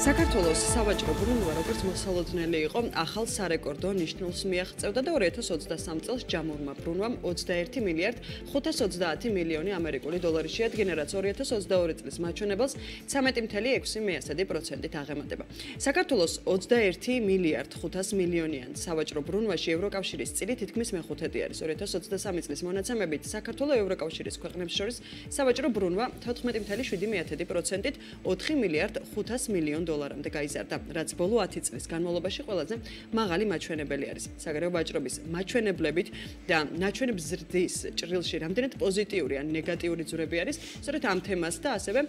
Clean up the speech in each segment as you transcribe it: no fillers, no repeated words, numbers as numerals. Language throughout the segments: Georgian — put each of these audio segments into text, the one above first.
საქართველოს სავაჭრო ბრუნვა, როგორც მოსალოდნელი იყო, ახალ სარეკორდო ნიშნულს მიაღწევდა და 2023 წელს ჯამურმა ბრუნვამ 21 მილიარდ 530 მილიონი ამერიკული დოლარი შეადგინა, რაც 2022 წლის მაჩვენებელს 13.6%-ით აღემატება. საქართველოს 21 მილიარდ 500 მილიონიან სავაჭრო ბრუნვაში ევროკავშირის წილი თითქმის მეხუთედი არის. 2023 წლის მონაცემებით საქართველოს ევროკავშირის ქვეყნებს შორის სავაჭრო ბრუნვა 14.7%-ით 4 მილიარდ 500 მილიონ დოლარამდე გაიზარდა, რაც ბოლო 10 წლის განმავლობაში ყველაზე მაღალი მაჩვენებელი არის. საგარეო ვაჭრობის მაჩვენებლებით და ნაჩვენებ ზრდის ჭრილში რამდენად პოზიტიური ან ნეგატიური ძვრები არის, სწორედ ამ თემას და ასევე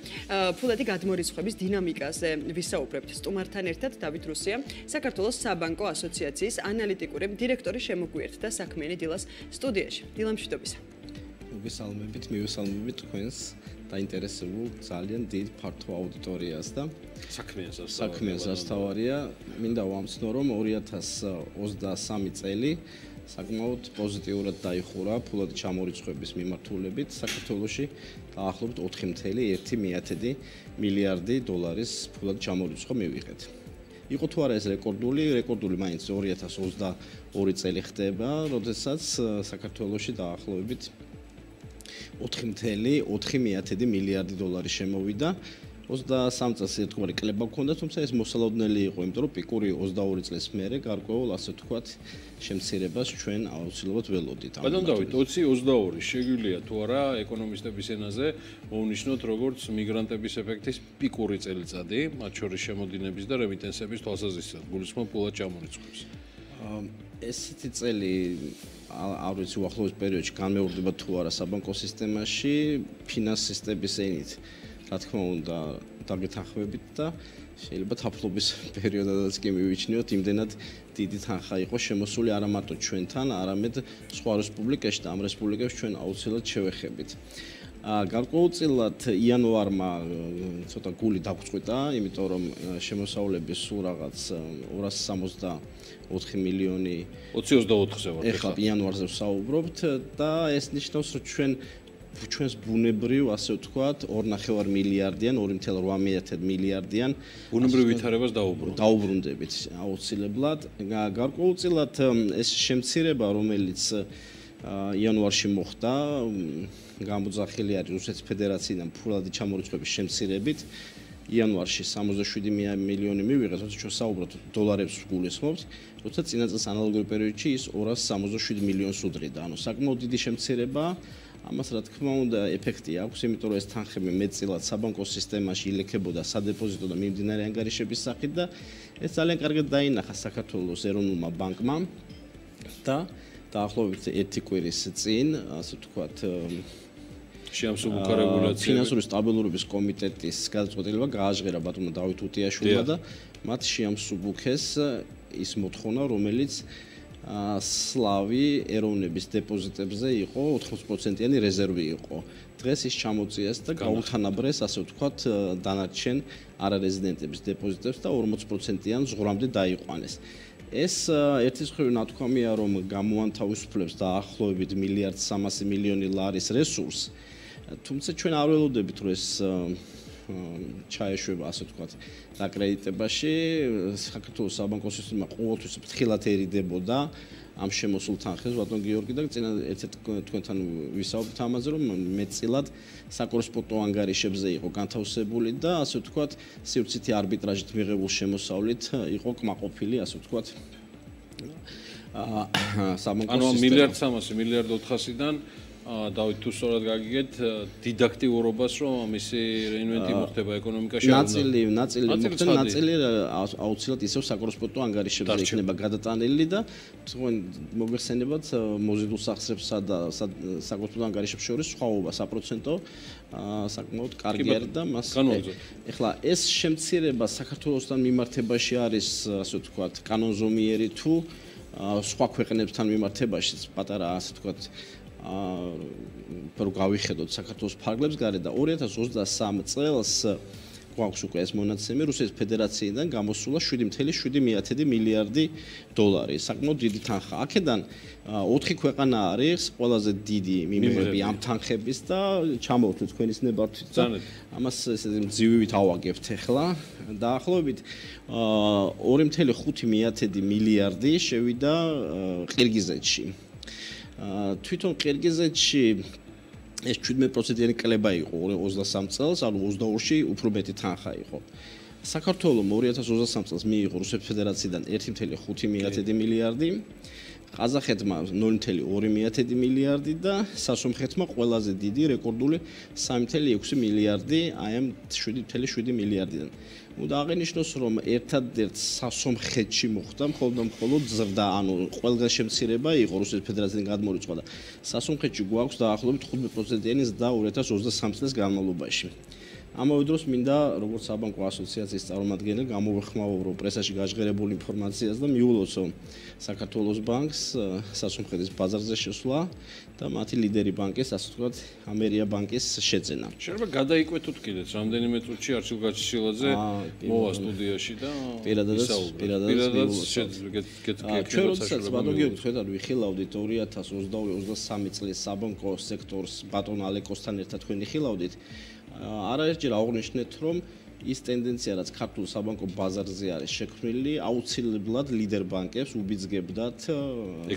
ფულადი გადმორიცხვების დინამიკაზე ვისაუბრებთ. სტუმართან ერთად დავით რუსია, საქართველოს საბანკო ასოციაციის ანალიტიკური დირექტორი შემოგვიერთდა საქმიანი დილას სტუდიაში. დილა მშვიდობისა. მივესალმებით თქვენს დაინტერესებულ ძალიან დიდ ფართო აუდიტორიას და საქმიან სასთავარია. მინდა ვამცნო, რომ 2023 წელი საკმაოდ პოზიტიურად დაიხურა ფულადი ჩამორიცხვების მიმართულებით. საქართველოში დაახლოებით 4.1 მილიარდი დოლარის ფულადი ჩამორიცხვა მივიღეთ. იყო თუ არა ეს რეკორდული მაინც 2022 წელი ხდება, როდესაც საქართველოში დაახლოებით 4.4 მილიარდი დოლარი შემოვიდა. 23 წელს ერთგვარი კლება გქონდა, თუმცა ეს მოსალოდნელი იყო, იმიტომ რომ პიკური 22 წლის მერე გარკვეულ, ასე ვთქვათ, შემცირებას ჩვენ აუცილებლად ველოდით. ბატონ დავით, 2022 შეგვიძლია თუ არა ეკონომისტების ენაზე მოვნიშნოთ როგორც მიგრანტების ეფექტის პიკური წელიწადი, მათ შორის შემოდინების და რემიტენსების თვალსაზრისით, გულისხმობ ფულად ჩამორიცხვებს. ესეთი წელი არ ვიცი უახლოეს პერიოდში განმეორდება თუ არა საბანკო სისტემაში, ფინანსისტების ენით. Რა თქმა უნდა, დაგეთანხმებით და შეიძლება თაფლობის პერიოდადაც კი მივიჩნიოთ, იმდენად დიდი თანხა იყო შემოსული არა მარტო ჩვენთან, არამედ სხვა რესპუბლიკაში და ამ რესპუბლიკებში ჩვენ აუცილებლად შევეხებით. გარკვეულწილად იანვარმა ცოტა გული დაგვწყვიტა, იმიტომ რომ შემოსავლები სულ რაღაც 264 მილიონი 2024-ზე ვარ. ეხლა იანვარზე ვსაუბრობთ და ეს ნიშნავს, რომ ჩვენს ბუნებრივ, ასე ვთქვათ, 2.5 მილიარდიან, 2.8 მილიარდიან ბუნებრივ ვითარებას დაუბრუნდებით აუცილებლად. გარკვეულწილად ეს შემცირება, რომელიც იანვარში მოხდა, გამოძახილი არის რუსეთის ფედერაციიდან ფულადი ჩამორიცხვების შემცირებით. იანვარში 67 მილიონი მივიღეთ, თუმცა ჩვენ საუბრობთ დოლარებს გულისხმობთ, როცა წინა წელს ანალოგური პერიოდში ის 267 მილიონს უდრიდა. ანუ საკმაოდ დიდი შემცირება. ამას რა თქმა უნდა ეფექტი აქვს, იმიტომ რომ ეს თანხები მეტწილად საბანკო სისტემაში ილექებოდა სადებოზიტო და მიმდინარე ანგარიშების სახით და ეს ძალიან კარგად დაინახა საქართველოს ეროვნულმა ბანკმა და დაახლოებით 1 კვირის წინ, ასე ვთქვათ, შეამსუბუქა რეგულაცია ფინანსური სტაბილურობის კომიტეტის გადაწყვეტილება გააჟღერა ბატონმა დავით უტიაშვილმა და მათ შეამსუბუქეს ის მოთხოვნა, რომელიც სლავი ეროვნების დეპოზიტებზე იყო 80%-იანი რეზერვი იყო. დღეს ის ჩამოწიეს და გაუთანაბრეს, ასე ვთქვათ, დანარჩენ არარეზიდენტების დეპოზიტებს და 40%-იან ზღვრამდე დაიყვანეს. ეს ერთის მხრივ ნათქვამია, რომ გამოანთავისუფლებს დაახლოებით 1.3 მილიარდი ლარის რესურსს, თუმცა ჩვენ არ ველოდებით, რომ ეს ჩაეშვება, ასე ვთქვათ, დაკრედიტებაში. საქართველოს საბანკო სისტემა ყოველთვის ფრთხილად ერიდებოდა ამ შემოსულ თანხებს, ბატონ გიორგი და წინა ერთ-ერთ თქვენთან ვისაუბრეთ ამაზე, რომ მეტწილად საკორესპონდენტო ანგარიშებზე იყო განთავსებული და ასე ვთქვათ, სივრცითი არბიტრაჟით მიღებულ შემოსავლით იყო კმაყოფილი, ასე ვთქვათ, საბანკო სისტემა. ანუ 1.3 მილიარდ 400-დან დავით თუ სწორად გაგიგეთ დიდაქტიურობას, რომ მისი რეინვენტი მოხდება ეკონომიკაში. ნაწილი აუცილებლად ისევ საკორესპონდენტო ანგარიშებზე იქნება გადატანილი და თქვენ მოგეხსენებათ მოზიდულ სახსრებსა და საკორესპონდენტო ანგარიშებს შორის სხვაობა საპროცენტო საკმაოდ კარგი არის და მას ეხლა ეს შემცირება საქართველოსთან მიმართებაში არის, ასე ვთქვათ, კანონზომიერი თუ სხვა ქვეყნებთან მიმართებაში პატარა, ასე ვთქვათ, რომ გავიხედოთ საქართველოს ფარგლებს გარეთ და 2023 წელს გვაქვს უკვე ეს მონაცემი, რუსეთის ფედერაციიდან გამოსულა 7.7 მილიარდი დოლარი. საკმაოდ დიდი თანხა. აქედან 4 ქვეყანა არის ყველაზე დიდი მიმღები ამ თანხების და ჩამოვთვლით თქვენის ნებართვით და ამას ესე მძივივით ავაგებთ ახლა. დაახლოებით 2.5 მილიარდი შევიდა ყირგიზეთში. თვითონ ყირგიზეთში ეს 17%-იანი კლება იყო 23 წელს, ანუ 22-ში უფრო მეტი თანხა იყო. საქართველოს 2023 წელს მიიღო რუსეთის ფედერაციიდან 1.5 მილიარდი, ყაზახეთმა 0.2 მილიარდი და სასომხეთმა ყველაზე დიდი რეკორდული 3.6 მილიარდი აი ამ 7.7 მილიარდიდან. უნდა აღინიშნოს, რომ ერთადერთ სასომხეთში მოხდა მხოლოდ ზრდა, ანუ ყველგან შემცირება იყო რუსეთის ფედერაციიდან გადმორიცხვა და სასომხეთში გვაქვს დაახლოებით 15%-იანი ზრდა 2023 წლის განმავლობაში. ამავე დროს მინდა როგორც საბანკო ასოციაციის წარმომადგენელი გამოვეხმაურო პრესაში გაჟღერებულ ინფორმაციას და მიულოცო საქართველოს ბანკს სასომხეთის ბაზარზე შესვლა და მათი ლიდერი ბანკის, ასე ვთქვათ, ამერია ბანკის შეძენა. შეიძლება გადაიკვეთოთ კიდეც რამდენიმე წუთში არჩილ გაჩიშილაძე მოვა სტუდიაში და პირადად ჩვენ როდესაც ბატონგიორი თქვენ ვიხილავდით 2022-23 წლის საბანკო სექტორს ბატონ ალეკოსთან ერთად თქვენ ვიხილავდით არაერთჯერ აღნიშნეთ, რომ ის ტენდენცია, რაც ქართულ საბანკო ბაზარზე არის შექმნილი, აუცილებლად ლიდერ ბანკებს უბიძგებდათ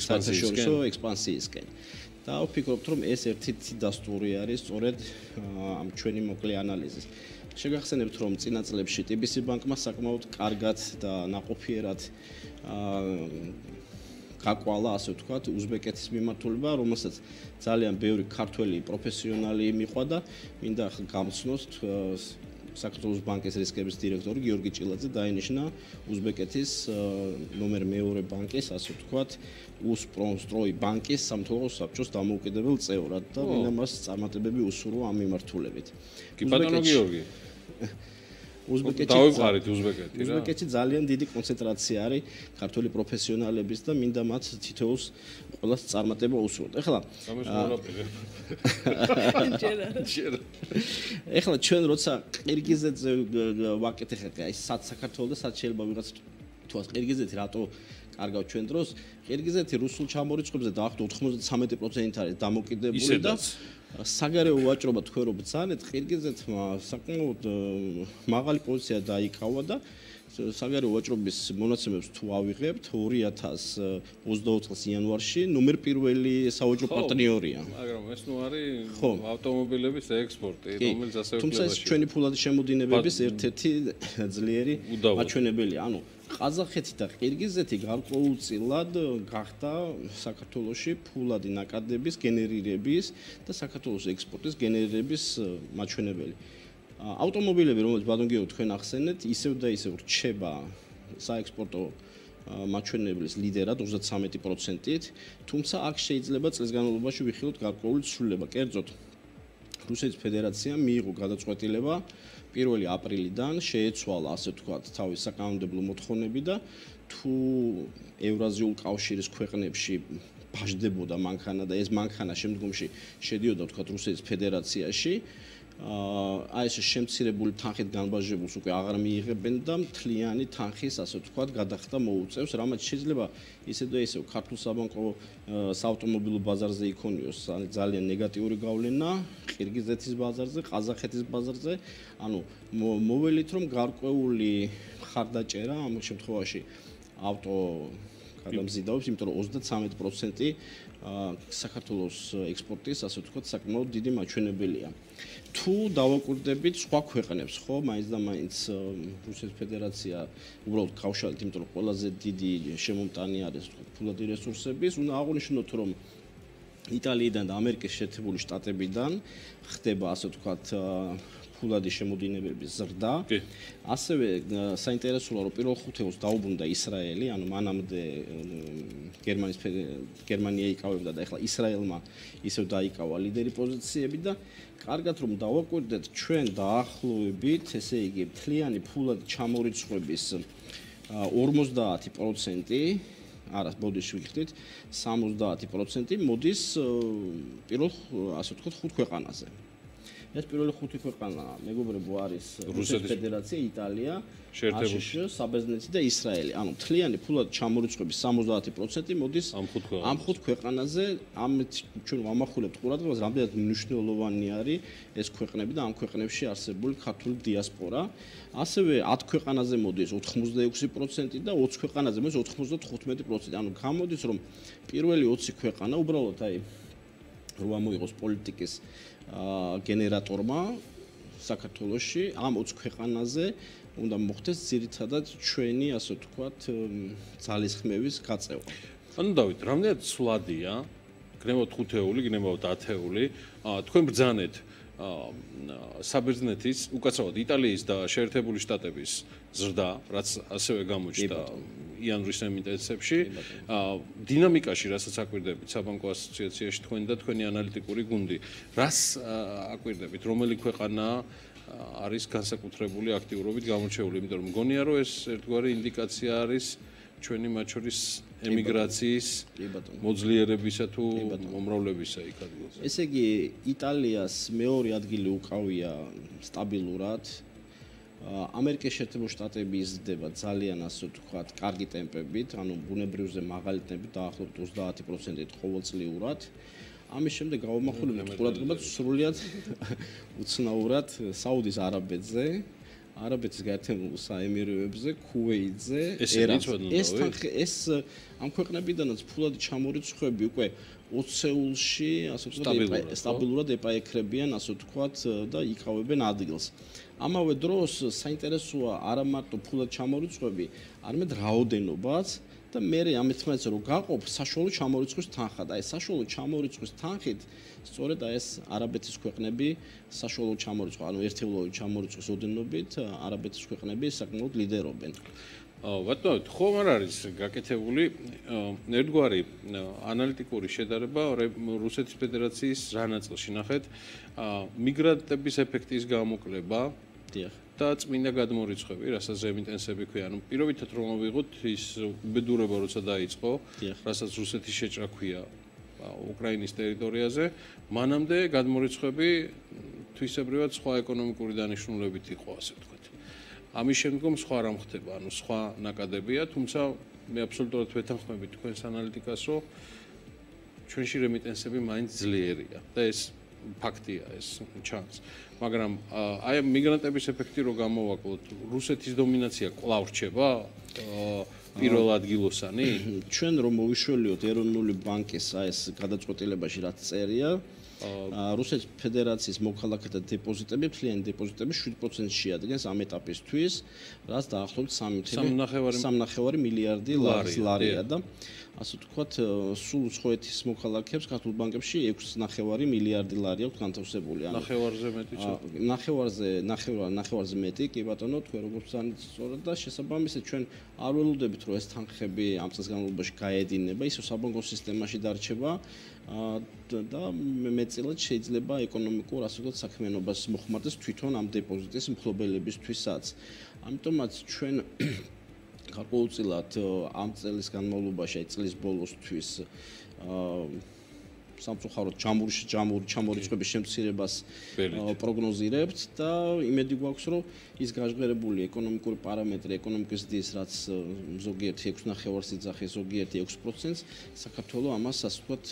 საერთაშორისო ექსპანსიისკენ. და ვფიქრობთ, რომ ეს ერთ-ერთი დასტური არის სწორედ ამ ჩვენი მოკლე ანალიზის. შეგახსენებთ, რომ წინა წლებში TBC ბანკმა საკმაოდ კარგად და ნაყოფიერად გაკვალა, ასე ვთქვათ, უზბეკეთის მიმართულება, რომელსაც ძალიან ბევრი ქართველი პროფესიონალი მიყვადა. მინდა გამცნოთ საქართველოს ბანკის რისკების დირექტორი გიორგი ჭილაძე დაინიშნა უზბეკეთის ნომერ მეორე ბანკის, ასე ვთქვათ, უსპრონსტროი ბანკის სამთავრობო საბჭოს დამოუკიდებელ წევრად და მინდა მას წარმატებები უსურვო ამ მიმართულებით. კი ბატონო გიორგი უზბეკეთში ძალიან დიდი კონცენტრაცია არის ქართული პროფესიონალების და მინდა მათ თითოეულს ყველას წარმატება უსურვოთ. ეხლა ჩვენ როცა ყირგიზეთზე ვაკეთებთ, აი სად საქართველოს და სად შეიძლება ვიღაც თუას ყირგიზეთი რატო კარგავ ჩვენ დროს, ყირგიზეთი რუსულ ჩამორიცხვებზე დაახლოებით 93% არის დამოკიდებული და საგარეო ვაჭრობა თქვენ რო ბრძანეთ, ყირგიზეთმა საკმაოდ მაღალი პოზიცია დაიკავა და საგარეო ვაჭრობის მონაცემებს თუ ავიღებთ 2024 წლის იანვარში ნომერ პირველი სავაჭრო პარტნიორია. მაგრამ ეს ნუ არის ავტომობილების ექსპორტი, რომელიც ასევე თუმცა ეს ჩვენი ფულადი შემოდინებების ერთ-ერთი ძლიერი მაჩვენებელია. ანუ ყაზახეთი და ყირგიზეთი გარკვეულწილად გახდა საქართველოში ფულადი ნაკადების გენერირების და საქართველოს ექსპორტის გენერირების მაჩვენებელი. ავტომობილები, რომელიც ბატონგიორი თქვენ ახსენეთ, ისევ და ისევ რჩება საექსპორტო მაჩვენებლის ლიდერად 33%-ით, თუმცა აქ შეიძლება წლის განმავლობაში ვიხილოთ გარკვეული ცვლილება. კერძოდ, რუსეთის ფედერაციამ მიიღო გადაწყვეტილება 1 აპრილიდან შეეცვალა, ასე ვთქვათ, თავის საკანონმდებლო მოთხოვნები და თუ ევრაზიულ კავშირის ქვეყნებში ბაჟდებოდა მანქანა და ეს მანქანა შემდგომში შედიოდა, ვთქვათ, რუსეთის ფედერაციაში, აი ეს შემცირებული თანხით განბაჟებულს უკვე აღარ მიიღებენ და მთლიანი თანხის, ასე ვთქვათ, გადახდა მოუწევს, რამაც შეიძლება ისე და ისე ქართულ საბანკო საავტომობილო ბაზარზე იქონიოს ძალიან ნეგატიური გავლენა, ყირგიზეთის ბაზარზე, ყაზახეთის ბაზარზე, ანუ მოველით რომ გარკვეული მხარდაჭერა ამ შემთხვევაში ავტო გადამზიდავებს, იმიტომ რომ 33% საქართველოს ექსპორტის, ასე ვთქვათ, საკმაოდ დიდი მაჩვენებელია. თუ დავაკვირდებით სხვა ქვეყნებს, ხო, მაინც და მაინც რუსეთის ფედერაცია უბრალოდ გავშალეთ, იმიტომ რომ ყველაზე დიდი შემომტანი არის ფულადი რესურსების, უნდა აღვნიშნოთ, რომ იტალიიდან და ამერიკის შეერთებული შტატებიდან ხდება, ასე ვთქვათ, ფულადი შემოდინებების ზრდა. ასევე საინტერესოა, რომ პირველ ხუთეულს დაუბრუნდა ისრაელი, ანუ მანამდე გერმანია იკავებდა და ეხლა ისრაელმა ისევ დაიკავა ლიდერი პოზიციები და კარგად რომ დავაკვირდეთ, ჩვენ დაახლოებით, ესე იგი, მთლიანი ფულადი ჩამორიცხვების 50% არა, ბოდიში ვიხდით, 70% მოდის პირველ, ასე ვთქვათ, 5 ქვეყანაზე. ეს პირველი 5 ქვეყანა მეგობრებო არის რუსეთის ფედერაცია, იტალია, აშშ, საბერძნეთი და ისრაელი. ანუ მთლიანი ფულად ჩამორიცხვების 70% მოდის ამ 5 ქვეყანაზე. ამით ჩვენ ვამახვილებთ ყურადღებას, რამდენად მნიშვნელოვანი არის ეს ქვეყნები და ამ ქვეყნებში არსებული ქართული დიასპორა. ასევე 10 ქვეყანაზე მოდის 86% და 20 ქვეყანაზე მოდის 95%. ანუ გამოდის რომ პირველი 20 ქვეყანა უბრალოდ აი რო ამოიღოს პოლიტიკის გენერატორმა საქართველოში ამ 20 ქვეყანაზე უნდა მოხდეს ძირითადად ჩვენი ასე ვთქვათ ძალისხმევის გაწევა. ანუ დავით, რამდენად სვლადია, გნებავთ 5-ეული, გნებავთ 10-ეული, თქვენ ბრძანეთ საბერძნეთის, უკაცრავად იტალიის და შეერთებული შტატების ზრდა, რაც ასევე გამოჩნდა იანვრის ემიტენსებში, დინამიკაში, რასაც აკვირდებით საბანკო ასოციაციაში თქვენ და თქვენი ანალიტიკური გუნდი, რას აკვირდებით, რომელი ქვეყანა არის განსაკუთრებული აქტიურობით გამოჩეული, იმიტომ რომ მგონია რომ ეს ერთგვარი ინდიკაცია არის ჩვენი მათ შორის ემიგრაციის მოძლიერებისა თუ მომრავლებისა იქ ადგილზე. ესე იგი იტალიას მეორე ადგილი უკავია სტაბილურად. ამერიკის შეერთებული შტატები იზრდება ძალიან ასე ვთქვათ კარგი ტემპებით, ანუ ბუნებრივზე მაღალი ტემპით, დაახლოებით 30%-ით ყოველწლიურად. ამის შემდეგ გავამახვილებთ ყურადღებას სრულიად უცნაურად საუდის არაბეთზე, არაბეთის გაერთიანებულ საემიროებზე, ქუვეითზე, ეს ამ ქვეყნებიდანაც ფულად ჩამორიცხვები უკვე 20-ეულში, ასე ვთქვათ, სტაბილურად ეპაექრებიან, ასე ვთქვათ, და იკავებენ ადგილს. ამავე დროს საინტერესოა არა მარტო ფულად ჩამორიცხვები, არამედ რაოდენობაც და მე ამით მეც რომ გაყოფ საშუალო ჩამორიცხვის თანხად. აი საშუალო ჩამორიცხვის თანხით სწორედ აი ეს არაბეთის ქვეყნები საშუალო ჩამორიცხვა, ანუ ერთეულოვანი ჩამორიცხვის ოდენობით არაბეთის ქვეყნები საკმაოდ ლიდერობენ. ბატონო, ხომ არ არის გაკეთებული ერთგვარი ანალიტიკური შედარება რუსეთის ფედერაციის რა ნაწილში ნახეთ მიგრანტების ეფექტის გამოკლება და წმინდა გადმორიცხვები, რასაც ემიტენსები ქვია. ანუ პირობითად რომ ავიღოთ ის უბედურება როცა დაიწყო, რასაც რუსეთის შეჭრა ქვია უკრაინის ტერიტორიაზე, მანამდე გადმორიცხვები თვისებრივად სხვა ეკონომიკური დანიშნულებით იყო, ასე ვთქვათ. ამის შემდგომ სხვა რამ ხდება, ანუ სხვა ნაკადებია, თუმცა მე აბსოლუტურად ვეთანხმები თქვენს ანალიტიკას, რომ ჩვენში რემიტენსები მაინც ძლიერია და ეს ფაქტია, ეს ჩანს. მაგრამ აი მიგრანტების ეფექტი რო გამოვაკლოთ, რუსეთის დომინაცია კვლავ რჩება პირველ ადგილოსანი? ჩვენ რომ მოვიშველიოთ ეროვნული ბანკის ეს გადაწყვეტილებაში რაც წერია, რუსეთის ფედერაციის მოქალაქეთა დეპოზიტები, მთლიანი დეპოზიტები 7%-ს შეადგენს ამ ეტაპისთვის, რაც დაახლოებით 3.5 მილიარდი ლარია და ასე ვთქვათ, სულ უცხოეთის მოქალაქეებს ქართულ ბანკებში 6.5 მილიარდი ლარი აქვს განთავსებული. ანუ ნახევარზე მეტი ნახევარზე მეტი, კი ბატონო, თქვენ როგორც ვცანით სწორად და შესაბამისად ჩვენ არ ველოდებით, რომ ეს თანხები ამ წელს განმავლობაში გაედინება, ისევ საბანკო სისტემაში დარჩება და მეტწილად შეიძლება ეკონომიკურ ასე ვთქვათ საქმიანობას მოხმარდეს თვითონ ამ დეპოზიტის მფლობელებისთვისაც. ამიტომაც ჩვენ გარკვეულწილად ამ წელის განმავლობაში, აი წლის ბოლოსთვის სამწუხაროდ ჩამორიცხვების შემცირებას პროგნოზირებთ და იმედი გვაქვს, რომ ის გაჟღერებული ეკონომიკური პარამეტრი, ეკონომიკის ზრდის, რაც ზოგიერთი 6.5-ს იძახის, ზოგიერთი 6%-ს, საქართველოს ამას ასე ვთქვათ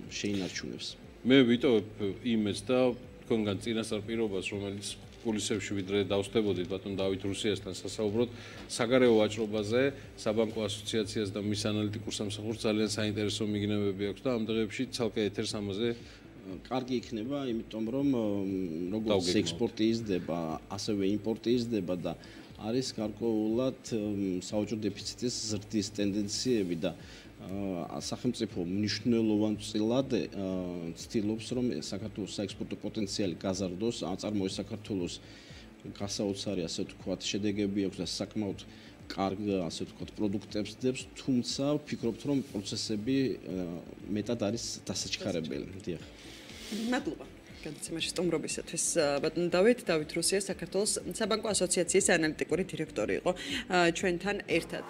შეინარჩუნებს. მე ვიტოვებ იმედს და თქვენგან წინასწარ პირობას, რომელიც კულისებში ვიდრე დავსდებოდით ბატონ დავით რუსიასთან სასაუბროდ საგარეო ვაჭრობაზე, საბანკო ასოციაციას და მის ანალიტიკურ სამსახურს ძალიან საინტერესო მიგნებები აქვს და ამ დღეებში ცალკე ეთერს ამაზე კარგი იქნება, იმიტომ რომ როგორც ექსპორტი იზრდება, ასევე იმპორტი იზრდება და არის გარკვეულად საოჯო დეფიციტის ზრდის ტენდენციები და სახელმწიფო მნიშვნელოვანწილად ცდილობს, რომ საქართველოს საექსპორტო პოტენციალი გაზარდოს, აწარმოოს საქართველოს გასაოცარი, ასე ვთქვათ, შედეგები აქვს და საკმაოდ კარგ, ასე ვთქვათ, პროდუქტებს დებს, თუმცა ვფიქრობთ, რომ პროცესები მეტად არის დასაჩქარებელი. დიახ. მადლობა. გადაცემაში სტუმრობისათვის ბატონ დავით რუსია საქართველოს საბანკო ასოციაციის ანალიტიკური დირექტორი იყო ჩვენთან ერთად.